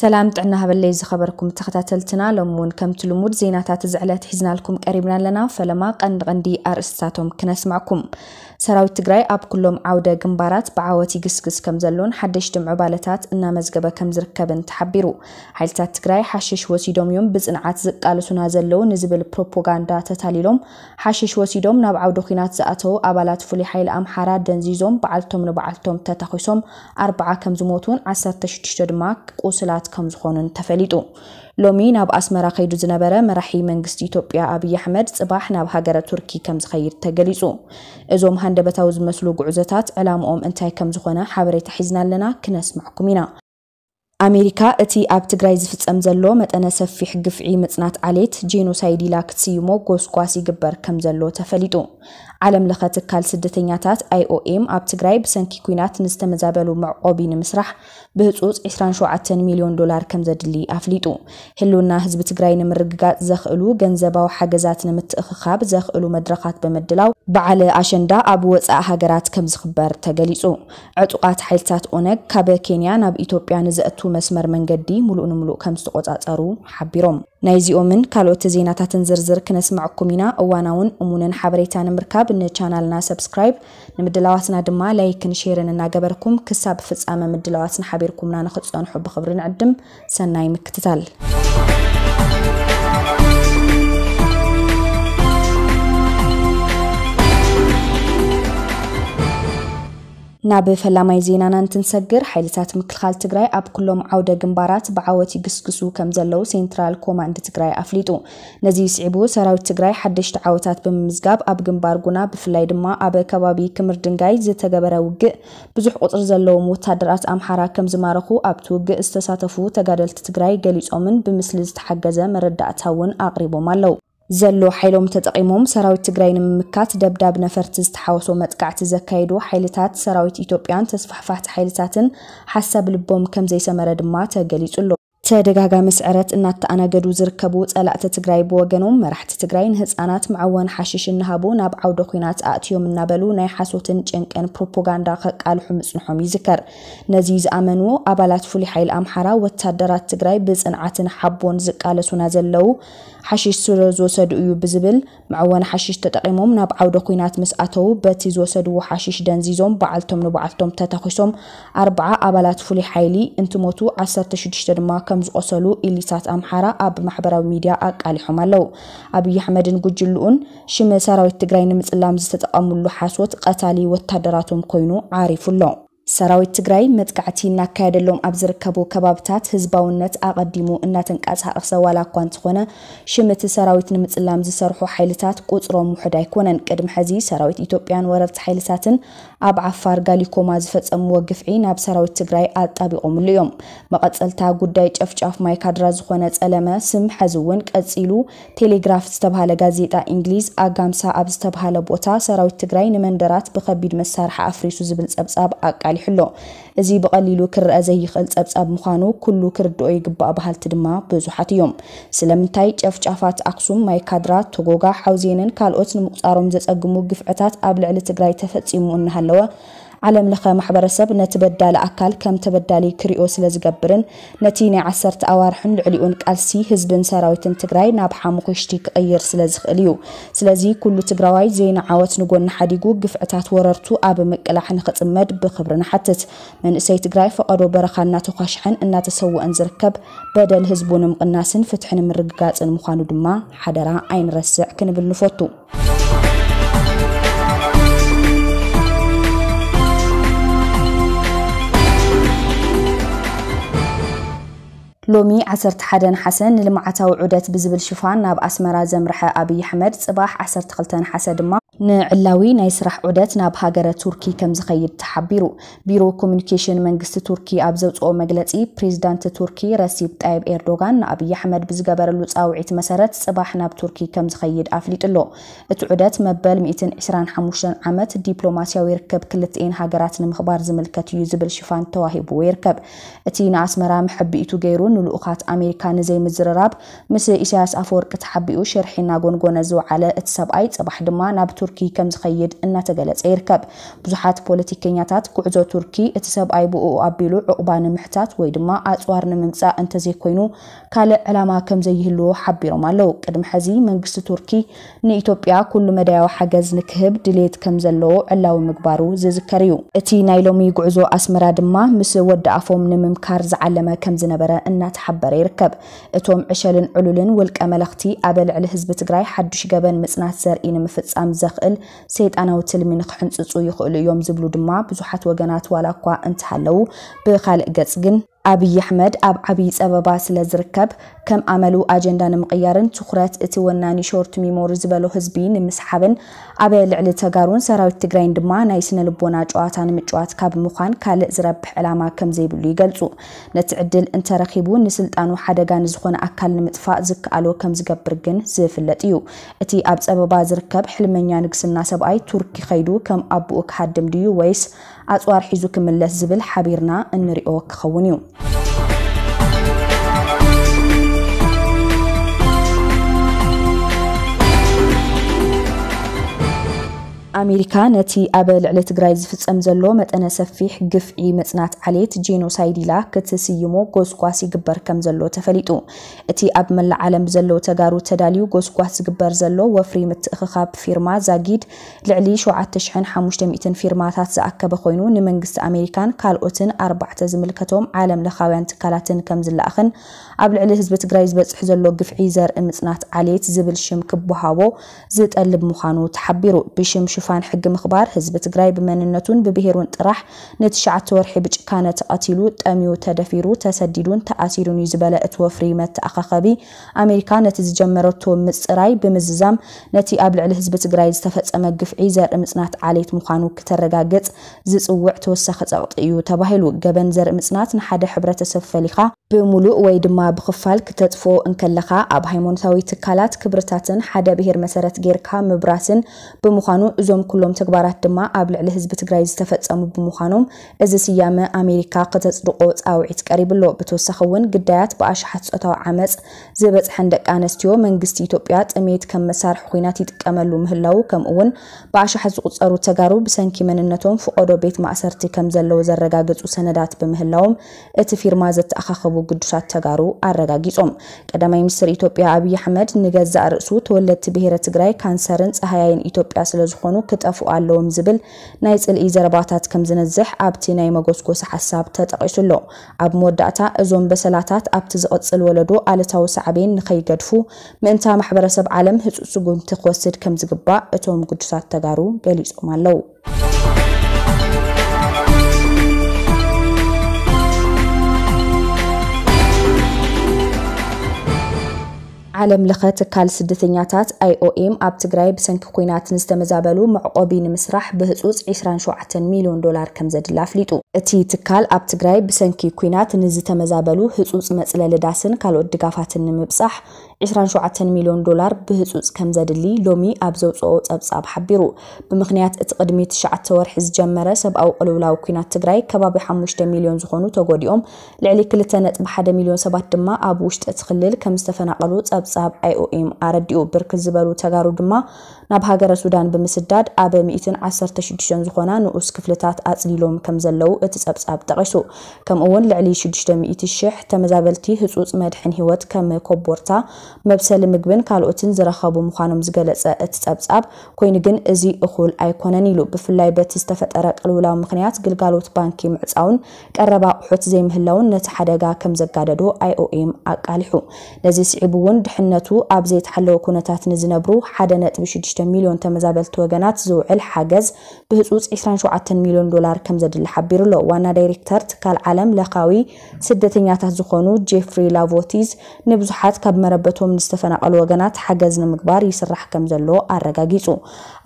ሰላም ጥዕና ሃበለይ ዝኸበርኩም ተኸታተልትና፣ ሎም እውን ከምቲ ልሙድ ዜናታት እዚ ዕለት ሒዝናልኩም ቀሪብና ኣለና። ፈለማ ቀንዲ ቀንዲ ኣርእስታቶም ክነስማዕኩም። ሰራዊት ትግራይ ኣብ ኩሎም ዓውደ ግንባራት ብዓወት ይግስግስ ከም ዘሎን ሓደሽቲ ምዕባለታት እናመዝገበ ከም ዝርከብን ተሓቢሩ። ሓይልታት ትግራይ ሓሽሽ ወሲዶም እዮም ብጽንዓት ዝቃልሱና ዘለዉ ንዝብል ፕሮፓጋንዳ ተታሊሎም፣ ሓሽሽ ወሲዶም ናብ ዓውደ ኲናት ዝኣተዉ ኣባላት ፍሉይ ሓይሊ ኣምሓራ ደንዚዞም በዓልቶም ንበዓልቶም ተታኺሶም ኣርባዓ ከም ዝሞቱን ዓሰርተ ሽዱሽተ ድማ ቁስላት ከም ዝኾኑን ተፈሊጡ። ሎሚ ናብ ኣስመራ ከይዱ ዝነበረ መራሒ መንግስቲ ኢትዮጵያ ኣብይ ኣሕመድ ጽባሕ ናብ ሃገረ ቱርኪ ከም ዝኸይድ ተገሊጹ። እዞም ሃንደበታዊ ዝመስሉ ጉዕዞታት ዕላምኦም እንታይ ከም ዝኾነ ሓበሬታ ሒዝና ኣለና፣ ክነስምዕኩም ኢና። ኣሜሪካ እቲ ኣብ ትግራይ ዝፍጸም ዘሎ መጠነ ሰፊሕ ግፍዒ ምጽናት ዓሌት ጄኖሳይድ ኢላ ክትስይሞ ጎስጓስ ይግበር ከም ዘሎ ተፈሊጡ። ዓለም ለኸ ትካል ስደተኛታት ኣይ ኦ ኤም ኣብ ትግራይ ብሰንኪ ኲናት ንዝተመዛበሉ መዕቆቢ ንምስራሕ ብህጹጽ ዕስራን ሸውዓተን ሚልዮን ዶላር ከም ዘድሊ ኣፍሊጡ። ህልውና ህዝቢ ትግራይ ንምርግጋጽ ዘኽእሉ ገንዘባዊ ሓገዛት ንምትእኽኻብ ዘኽእሉ መድረኻት ብምድላው በዓል ኣሸንዳ ኣብ ወጻኢ ሃገራት ከም ዝኽበር ተገሊጹ። ዕጡቓት ሓይልታት ኦነግ ካብ ኬንያ ናብ ኢትዮጵያ ንዘእቱ መስመር መንገዲ ሙሉእ ንሙሉእ ከም ዝተቆጻጸሩ ሓቢሮም። ናይዚኦምን ካልኦት ዜናታትን ዝርዝር ክነስምዐኩም ኢና። እዋናውን እሙንን ሓበሬታ ንምርካብ ንቻናልና ሰብስክራይብ፣ ንምድላዋትና ድማ ላይክን ሼርን እናገበርኩም ክሳብ ፍጻመ ምድላዋትና ሓቢርኩምና ንኽትጸንሑ ብኽብሪ ንዕድም። ሰናይ ምክትታል። ናብ ፈላማይ ዜናና እንትንሰግር፣ ሓይልታት ምክልኻል ትግራይ ኣብ ኩሎም ዓውደ ግንባራት ብዓወት ይግስግሱ ከም ዘለዉ ሴንትራል ኮማንድ ትግራይ ኣፍሊጡ። ነዚ ስዒቡ፣ ሰራዊት ትግራይ ሓደሽቲ ዓወታት ብምምዝጋብ፣ ኣብ ግንባር ጉና፣ ብፍላይ ድማ ኣብ ከባቢ ክምር ድንጋይ ዝተገበረ ውግእ፣ ብዙሕ ቁጽሪ ዘለዎም ወታደራት ኣምሓራ ከም ዝማረኹ ኣብቲ ውግእ ዝተሳተፉ ተጋደልቲ ትግራይ ገሊጾምን ብምስሊ ዝተሓገዘ መረዳእታ እውን ኣቕሪቦም ኣለዉ። ዘሎ ሓይሎም ተጠቒሞም ሰራዊት ትግራይ ንምምካት ደብዳብ ነፈርቲ ዝተሓወሶ መጥቃዕቲ ዘካየዱ ሓይልታት ሰራዊት ኢትዮጵያን ተስፋሕፋሕቲ ሓይልታትን ሓሳብ ልቦም ከም ዘይሰመረ ድማ ተገሊጹ ኣሎ። ተደጋጋሚ ስዕረት እናተኣናገዱ ዝርከቡ ጸላእቲ ትግራይ ብወገኖም፣ መራሕቲ ትግራይ ንህጻናት መዐወን ሓሽሽ እናሃቡ ናብ ዓውደ ኲናት ኣእትዮም እናበሉ ናይ ሓሶትን ጭንቅን ፕሮፓጋንዳ ከቃልሑ ምጽንሖም ይዝከር። ነዚ ዝኣመኑ ኣባላት ፍሉይ ሓይሊ ኣምሓራ፣ ወታደራት ትግራይ ብጽንዓትን ሓቦን ዝቃለሱና ዘለዉ ሓሽሽ ስለ ዝወሰዱ እዩ ብዝብል መዐወኒ ሓሽሽ ተጠቒሞም ናብ ዓውደ ኲናት ምስ ኣተዉ፣ በቲ ዝወሰድዎ ሓሽሽ ደንዚዞም በዓልቶም ንበዓልቶም ተታኺሶም ኣርባዓ ኣባላት ፍሉይ ሓይሊ እንትሞቱ፣ ዓሰርተ ሽዱሽተ ድማ ከም ዝቖሰሉ ኢሊታት ኣምሓራ ኣብ ማሕበራዊ ሚድያ ኣቃሊሖም ኣለዉ። ኣብይ ኣሕመድን ጉጅልኡን ሽም ሰራዊት ትግራይ ንምጽላም ዝተጠቐምሉ ሓሶት ቀታሊ ወታደራቶም ኮይኑ ዓሪፉ ኣሎ። ሰራዊት ትግራይ መጥቃዕቲ እናካየደሎም ኣብ ዝርከቡ ከባብታት ህዝባውነት ኣቐዲሙ እናተንቀሳቐሰ ዋላ እኳ እንተኾነ፣ ሽም እቲ ሰራዊት ንምጽላም ዝሰርሑ ሓይልታት ቁጽሮም ውሑድ ኣይኮነን። ቅድሚ ሕዚ ሰራዊት ኢትዮጵያን ወረርቲ ሓይልታትን ኣብ ዓፋር ጋሊኮማ ዝፈጸምዎ ግፍዒ ናብ ሰራዊት ትግራይ ኣጣቢቖምሉ እዮም። መቐጸልታ ጉዳይ ጨፍጫፍ ማይ ካድራ ዝኾነ ጸለመ ስም ሕዚ እውን ቀጺሉ ቴሌግራፍ ዝተባህለ ጋዜጣ እንግሊዝ ኣጋምሳ ኣብ ዝተባህለ ቦታ ሰራዊት ትግራይ ንመንደራት ብኸቢድ መሳርሒ ኣፍሪሱ ዝብል ጸብጻብ ኣቃሊሑ ኣሎ። እዚ ብቐሊሉ ክረአ ዘይኽእል ጸብጻብ ምዃኑ ኩሉ ክርድኦ ይግባእ በሃልቲ ድማ ብዙሓት እዮም። ስለምንታይ ጨፍጫፋት ኣክሱም፣ ማይ ካድራ፣ ቶጎጋ፣ ሓውዜንን ካልኦት ንምቁጻሮም ዘጸግሙ ግፍዕታት ኣብ ልዕሊ ትግራይ ተፈጺሙ እናሃለወ ዓለም ለኸ ማሕበረሰብ ነቲ በዳሊ ኣካል ከም ተበዳሊ ክሪኦ ስለ ዝገብርን ነቲ ናይ ዓሰርተ ኣዋርሕን ልዕሊኡን ቃልሲ ህዝብን ሰራዊትን ትግራይ ናብ ሓሙኽሽቲ ክቕይር ስለ ዝኽእል እዩ። ስለዚ ኩሉ ትግራዋይ ዘይንዓወት ንጎኒ ሓዲጉ ግፍዕታት ወረርቱ ኣብ ምቅላሕ ንኽጽመድ ብኽብሪ ንሓትት። መንእሰይ ትግራይ ፈቐዶ በረኻ እናተኳሽሐን እናተሰወአን ዝርከብ በደል ህዝቡ ንምቕናስን ፍትሒ ንምርግጋጽን ምዃኑ ድማ ሓደራ ኣይንረስዕ ክንብል ንፈቱ። ሎሚ ዓሰርተ ሓደ ነሓሰ ንልምዓታዊ ዑደት ብዝብል ሽፋን ናብ ኣስመራ ዘምርሐ ኣብይ ኣሕመድ፣ ጽባሕ ዓሰርተ ክልተ ነሓሰ ድማ ንዕላዊ ናይ ስራሕ ዑደት ናብ ሃገረ ቱርኪ ከም ዝኸይድ ተሓቢሩ። ቢሮ ኮሚኒኬሽን መንግስቲ ቱርኪ ኣብ ዘውጽኦ መግለጺ፣ ፕሬዚዳንት ቱርኪ ረሲፕ ጣይብ ኤርዶጋን ንኣብይ ኣሕመድ ብዝገበረሉ ጻውዒት መሰረት ጽባሕ ናብ ቱርኪ ከም ዝኸይድ ኣፍሊጡ ኣሎ። እቲ ዑደት መበል ሚእትን ዕስራን ሓሙሽተን ዓመት ዲፕሎማስያዊ ርክብ ክልቲኤን ሃገራት ንምኽባር ዝምልከት እዩ ዝብል ሽፋን ተዋሂብዎ ይርከብ። እቲ ንኣስመራ ምሕብኢቱ ገይሩ ንልኡኻት ኣሜሪካ ንዘይምዝርራብ ምስ ኢሳያስ ኣፈወርቂ ተሓቢኡ ሽርሒ እናጎንጎነ ዝወዓለ እቲ ሰብኣይ፣ ጽባሕ ድማ ናብ ቱርኪ ከም ዝኸይድ እናተገለጸ ይርከብ። ብዙሓት ፖለቲከኛታት፣ ጉዕዞ ቱርኪ እቲ ሰብኣይ ብኡ ኣቢሉ ዕቑባ ንምሕታት ወይ ድማ ኣጽዋር ንምምጻእ እንተዘይኮይኑ ካልእ ዕላማ ከም ዘይህልዎ ሓቢሮም ኣለዉ። ቅድሚ ሕዚ መንግስቲ ቱርኪ ንኢትዮጵያ ኩሉ መዳያዊ ሓገዝ ንክህብ ድሌት ከም ዘለዎ ዕላዊ ምግባሩ ዝዝከር እዩ። እቲ ናይ ሎሚ ጉዕዞ ኣስመራ ድማ ምስ ወዲ ኣፎም ንምምካር ዝዓለመ ከም ዝነበረ እናተሓበረ ይርከብ። እቶም ዕሸልን ዕሉልን ውልቀ መለኽቲ ኣብ ልዕሊ ህዝቢ ትግራይ ሓዱሽ ገበን ምጽናት ዘርኢ ንምፍጻም ዘኽእል ሰይጣናዊ ትልሚ ንክሕንጽጹ ይኽእሉ እዮም ዝብሉ ድማ ብዙሓት ወገናት ዋላ እኳ እንተሃለዉ፣ ብኻልእ ገጽ ግን ኣብይ ኣሕመድ ኣብ ዓብዪ ጸበባ ስለ ዝርከብ፣ ከም ኣመሉ ኣጀንዳ ንምቕያርን ትኹረት እቲ ወናኒ ሾርት ሚሞሪ ዝበሎ ህዝቢ ንምስሓብን ኣብ ልዕሊ ተጋሩን ሰራዊት ትግራይን ድማ ናይ ስነ ልቦና ጨዋታ ንምጭዋት ካብ ምዃን ካልእ ዝረብሕ ዕላማ ከም ዘይብሉ ይገልጹ። ነቲ ዕድል እንተረኺቡ ንስልጣኑ ሓደጋ ንዝኾነ ኣካል ንምጥፋእ ዝከኣሎ ከም ዝገብር ግን ዝፍለጥ እዩ። እቲ ኣብ ጸበባ ዝርከብ ሕልመኛ ንግስና ሰብኣይ ቱርኪ ከይዱ ከም ኣቦኡ ክሃድም ድዩ ወይስ ኣጽዋር ሒዙ ክምለስ ዝብል ሓቢርና እንሪኦ ክኸውን እዩ። ኣሜሪካ ነቲ ኣብ ልዕሊ ትግራይ ዝፍጸም ዘሎ መጠነ ሰፊሕ ግፍዒ ምጽናት ዓሌት ጄኖሳይድ ኢላ ክትስይሞ ጎስጓስ ይግበር ከም ዘሎ ተፈሊጡ። እቲ ኣብ መላእ ዓለም ብዘለዉ ተጋሩ ተዳልዩ ጎስጓስ ዝግበር ዘሎ ወፍሪ ምትእኽኻብ ፊርማ ዛጊድ ልዕሊ ሸውዓተ ሽሕን ሓሙሽተ ሚእትን ፊርማታት ዝኣከበ ኮይኑ፣ ንመንግስቲ ኣሜሪካን ካልኦትን ኣርባዕተ ዝምልከቶም ዓለም ለኻውያን ትካላትን ከም ዝለኣኽን ኣብ ልዕሊ ህዝቢ ትግራይ ዝበፅሕ ዘሎ ግፍዒ ዘርኢ ምፅናት ዓሌት ዝብል ሽም ክበሃቦ ዝጠልብ ምዃኑ ተሓቢሩ። ብሽም ሽፋን ሕጊ ምኽባር ህዝቢ ትግራይ ብመንነቱን ብብሄሩን ጥራሕ ንትሽዓተ ወርሒ ብጭካነ ተቐቲሉ፣ ጠምዩ፣ ተደፊሩ፣ ተሰዲዱን ተኣሲሩን እዩ ዝበለ እቲ ወፍሪ መተኣኻኸቢ፣ ኣሜሪካ ነቲ ዝጀመረቶ ምፅራይ ብምዝዛም ነቲ ኣብ ልዕሊ ህዝቢ ትግራይ ዝተፈጸመ ግፍዒ ዘርኢ ምፅናት ዓሌት ምዃኑ ክተረጋግጽ ዝጽውዕ ተወሳኺ ጸቕጢ እዩ ተባሂሉ። ገበን ዘርኢ ምፅናት ንሓደ ሕብረተሰብ ፈሊኻ ብምሉእ ወይ ድማ ብኽፋል ክተጥፍኦ እንከለኻ፣ ኣብ ሃይማኖታዊ ትካላት፣ ክብርታትን ሓደ ብሄር መሰረት ጌርካ ምብራስን ብምዃኑ፣ እዞም ኩሎም ተግባራት ድማ ኣብ ልዕሊ ህዝቢ ትግራይ ዝተፈጸሙ ብምዃኖም፣ እዚ ስያመ ኣሜሪካ ክተጽድቆ ጻውዒት ቀሪቡ ኣሎ። ብተወሳኺ እውን ግዳያት ብኣሽሓት ጾታዊ ዓመጽ ዝበጽሐን ደቂ ኣንስትዮ መንግስቲ ኢትዮጵያ ጥሜት ከም መሳርሒ ኲናት ይጥቀመሉ ምህላዉ፣ ከምኡ እውን ብኣሽሓት ዝቑጸሩ ተጋሩ ብሰንኪ መንነቶም ፍቖዶ ቤት ማእሰርቲ ከም ዘለዉ ዘረጋገጹ ሰነዳት ብምህላዎም እቲ ፊርማ ዘተኣኻኸቡ ግዱሳት ተጋሩ ኣረጋጊጾም። ቀዳማይ ሚኒስትር ኢትዮጵያ ኣብይ ኣሕመድ ንገዛእ ርእሱ ተወለድቲ ብሄረ ትግራይ ካንሰርን ጸሃያይን ኢትዮጵያ ስለ ዝኾኑ ክጠፍኡ ኣለዎም ዝብል ናይ ጽልኢ ዘረባታት ከም ዝነዝሕ ኣብቲ ናይ መጎስጎሲ ሓሳብ ተጠቒሱ ኣሎ። ኣብ መወዳእታ እዞም በሰላታት ኣብቲ ዝቕጽል ወለዶ ኣሉታዊ ሳዕቤን ንኸይገድፉ ምእንታ ማሕበረሰብ ዓለም ህጹጽ ስጉምቲ ክወስድ ከም ዝግባእ እቶም ግዱሳት ተጋሩ ገሊጾም ኣለዉ። ዓለም ለኸ ትካል ስደተኛታት ኣይ ኦ ኤም ኣብ ትግራይ ብሰንኪ ኲናት ንዝተመዛበሉ መዕቆቢ ንምስራሕ ብህጹጽ ዕስራን ሸውዓተን ሚልዮን ዶላር ከም ዘድሊ ኣፍሊጡ። እቲ ትካል ኣብ ትግራይ ብሰንኪ ኲናት ንዝተመዛበሉ ህጹጽ መጽለሊ ዳስን ካልኦት ድጋፋትን ንምብጻሕ ዕስራን ሸውዓተን ሚልዮን ዶላር ብህጹጽ ከም ዘድሊ ሎሚ ኣብ ዘውጽኦ ጸብጻብ ሓቢሩ። ብምኽንያት እቲ ቅድሚ ትሽዓተ ወርሒ ዝጀመረ ሰብኣዊ ቅልውላው ኲናት ትግራይ ከባቢ ሓሙሽተ ሚልዮን ዝኾኑ ተጎዲኦም፣ ልዕሊ ክልተ ነጥቢ ሓደ ሚልዮን ሰባት ድማ ኣብ ውሽጢ እቲ ክልል ከም ዝተፈናቐሉ ጸብጻብ ኣይ ኦ ኤም ኣረዲኡ። ብርክት ዝበሉ ተጋሩ ድማ ናብ ሃገረ ሱዳን ብምስዳድ ኣብ ሚእትን ዓሰርተ ሽዱሽተን ዝኾና ንኡስ ክፍልታት ኣጽሊሎም ከም ዘለዉ እቲ ጸብጻብ ጠቒሱ። ከምኡ እውን ልዕሊ ሽዱሽተ ሚእቲ ሽሕ ተመዛበልቲ ህጹጽ መድሕን ህይወት ከም ኮቦርታ፣ መብሰሊ ምግብን ካልኦትን ዝረኸቡ ምዃኖም ዝገለጸ እቲ ጸብጻብ፣ ኮይኑ ግን እዚ እኹል ኣይኮነን ኢሉ። ብፍላይ በቲ ዝተፈጠረ ቅልውላው ምኽንያት ግልጋሎት ባንኪ ምዕጻውን ቀረብ ኣቑሑት ዘይምህላውን ነቲ ሓደጋ ከም ዘጋደዶ ኣይ ኦ ኤም ኣቃሊሑ። ነዚ ስዒቡ እውን ድሕነቱ ኣብ ዘይተሓለወ ኩነታት ንዝነብሩ ሓደ ነጥቢ ሽዱሽተ ሚልዮን ተመዛበልቲ ወገናት ዝውዕል ሓገዝ ብህጹጽ ዕስራን ሸውዓተን ሚልዮን ዶላር ከም ዘድሊ ሓቢሩ ኣሎ። ዋና ዳይሬክተር ትካል ዓለም ለኻዊ ስደተኛታት ዝኾኑ ጄፍሪ ላቮቲዝ ንብዙሓት ካብ መረበቶም ንዝተፈናቐሉ ወገናት ሓገዝ ንምግባር ይስራሕ ከም ዘሎ ኣረጋጊጹ።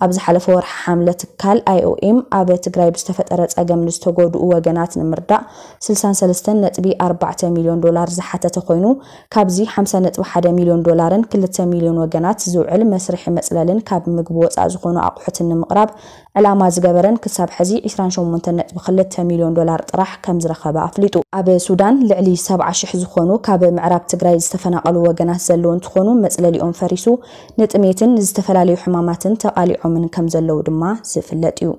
ኣብ ዝሓለፈ ወርሒ ሓምለ ትካል ኣይ ኦ ኤም ኣብ ትግራይ ብዝተፈጠረ ጸገም ንዝተጎድኡ ወገናት ንምርዳእ ስልሳን ሰለስተን ነጥቢ ኣርባዕተ ሚልዮን ዶላር ዝሓተተ ኮይኑ፣ ካብዚ ሓምሳ ነጥቢ ሓደ ሚልዮን ዶላርን ክልተ ሚልዮን ወገናት ዝውዕል መስርሒ መጽለልን ካብ ምግቢ ወጻኢ ዝኾኑ ኣቑሑትን ንምቕራብ ዕላማ ዝገበረን ክሳብ ሕዚ ዕስራን ሸሞንተን ነጥቢ ክልተ ሚልዮን ሚልዮን ዶላር ጥራሕ ከም ዝረኸበ ኣፍሊጡ። ኣብ ሱዳን ልዕሊ ሰብዓ ሽሕ ዝኾኑ ካብ ምዕራብ ትግራይ ዝተፈናቐሉ ወገናት ዘለዉ እንትኾኑ፣ መፅለሊኦም ፈሪሱ ንጥሜትን ዝተፈላለዩ ሕማማትን ተቓሊዖምን ከም ዘለዉ ድማ ዝፍለጥ እዩ።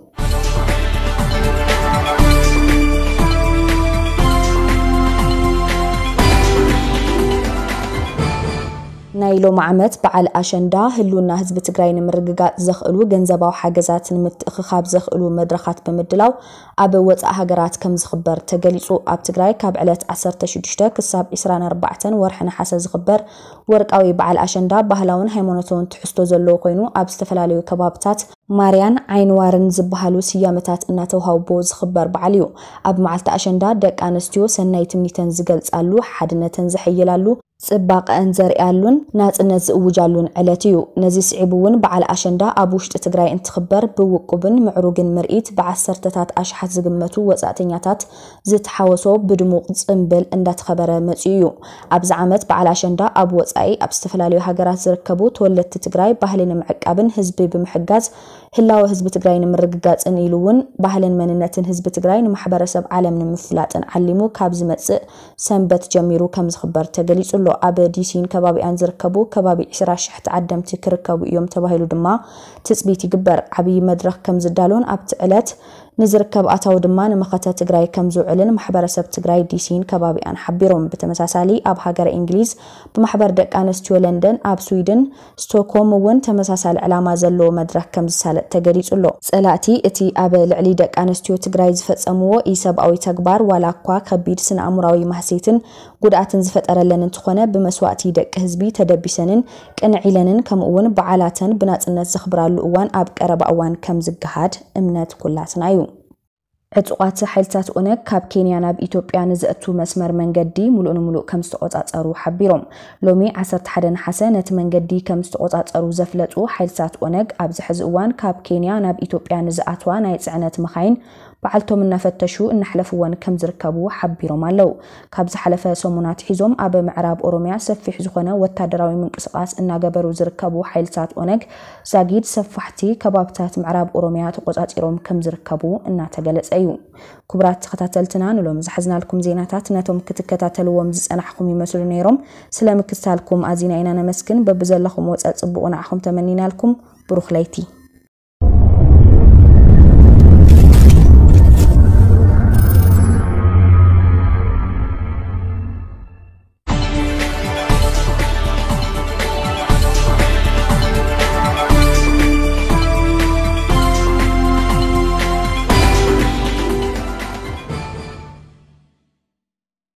ናይ ሎሚ ዓመት በዓል ኣሸንዳ ህልውና ህዝቢ ትግራይ ንምርግጋፅ ዘኽእሉ ገንዘባዊ ሓገዛት ንምትእኽኻብ ዘኽእሉ መድረኻት ብምድላው ኣብ ወፃኢ ሃገራት ከም ዝኽበር ተገሊፁ። ኣብ ትግራይ ካብ ዕለት ዓሰርተ ሽዱሽተ ክሳብ ዕስራን ኣርባዕተን ወርሒ ነሓሰ ዝኽበር ወርቃዊ በዓል ኣሸንዳ ባህላውን ሃይማኖታውን ትሕዝቶ ዘለዎ ኮይኑ፣ ኣብ ዝተፈላለዩ ከባብታት ማርያን ዓይንዋርን ዝበሃሉ ስያመታት እናተውሃቦ ዝኽበር በዓል እዩ። ኣብ መዓልቲ ኣሸንዳ ደቂ ኣንስትዮ ሰናይ ትምኒተን ዝገልጻሉ፣ ሓድነተን ዘሐይላሉ፣ ጽባቐአን ዘርእያሉን ናጽነት ዝእውጃሉን ዕለት እዩ። ነዚ ስዒቡ እውን በዓል ኣሸንዳ ኣብ ውሽጢ ትግራይ እንትኽበር ብውቁብን ምዕሩግን ምርኢት ብዓሰርተታት ኣሽሓት ዝግመቱ ወጻእተኛታት ዝተሓወሶ ብድሙቕ ጽምብል እንዳተኸበረ መጺኡ እዩ። ኣብዚ ዓመት በዓል ኣሸንዳ ኣብ ወጻኢ ኣብ ዝተፈላለዩ ሃገራት ዝርከቡ ተወለድቲ ትግራይ ባህሊ ንምዕቃብን ህዝቢ ብምሕጋዝ ህላወ ህዝቢ ትግራይ ንምርግጋጽን ኢሉ እውን ባህልን መንነትን ህዝቢ ትግራይ ንማሕበረሰብ ዓለም ንምፍላጥን ዓሊሙ ካብ ዝመጽእ ሰንበት ጀሚሩ ከም ዝኽበር ተገሊጹ ኣሎ። ኣብ ዲሲን ከባቢኣን ዝርከቡ ከባቢ ዕስራ ሽሕ ተዓደምቲ ክርከቡ እዮም ተባሂሉ ድማ ትጽቢት ይግበር። ዓብዪ መድረኽ ከም ዝዳሎን ኣብቲ ዕለት ንዝርከብ ኣታዊ ድማ ንመኸተ ትግራይ ከም ዝውዕልን ማሕበረሰብ ትግራይ ዲሲን ከባቢኣን ሓቢሮም። ብተመሳሳሊ ኣብ ሃገረ እንግሊዝ ብማሕበር ደቂ ኣንስትዮ ለንደን፣ ኣብ ስዊድን ስቶክሆልም እውን ተመሳሳሊ ዕላማ ዘለዎ መድረኽ ከም ዝሳለጥ ተገሊጹ ኣሎ። ጸላእቲ እቲ ኣብ ልዕሊ ደቂ ኣንስትዮ ትግራይ ዝፈጸምዎ ኢሰብኣዊ ተግባር ዋላ እኳ ከቢድ ስነ ኣእምራዊ ማህሴትን ጉድኣትን ዝፈጠረለን እንተኾነ፣ ብመስዋእቲ ደቂ ህዝቢ ተደቢሰንን ቅንዕ ኢለንን ከምኡ እውን በዓላተን ብናጽነት ዘኽብራሉ እዋን ኣብ ቀረባ እዋን ከም ዝገሃድ እምነት ኩላትና እዩ። ዕጡቓት ሓይልታት ኦነግ ካብ ኬንያ ናብ ኢትዮጵያ ንዘእቱ መስመር መንገዲ ሙሉእ ንሙሉእ ከም ዝተቆጻጸሩ ሓቢሮም። ሎሚ ዓሰርተ ሓደ ነሓሰ ነቲ መንገዲ ከም ዝተቆጻጸሩ ዘፍለጡ ሓይልታት ኦነግ፣ ኣብዚ ሕዚ እዋን ካብ ኬንያ ናብ ኢትዮጵያ ንዝኣትዋ ናይ ጽዕነት መኻይን በዓልቶም እናፈተሹ እናሕለፍወን ከም ዝርከቡ ሓቢሮም ኣለዉ። ካብ ዝሓለፈ ሰሙን ኣትሒዞም ኣብ ምዕራብ ኦሮሚያ ሰፊሕ ዝኾነ ወታደራዊ ምንቅስቓስ እናገበሩ ዝርከቡ ሓይልታት ኦነግ፣ ዛጊድ ሰፋሕቲ ከባብታት ምዕራብ ኦሮሚያ ተቆጻጺሮም ከም ዝርከቡ እናተገለጸ እዩ። ክቡራት ተኸታተልትና፣ ንሎሚ ዝሓዝናልኩም ዜናታት ነቶም ክትከታተልዎም ዝጸናሕኩም ይመስሉ ነይሮም። ስለ ምክትታልኩም ኣዚና ኢና ነመስግን። በብዘለኹም ወጸ ጽቡቕ ንዓኹም ተመኒናልኩም። ብሩኽ ለይቲ።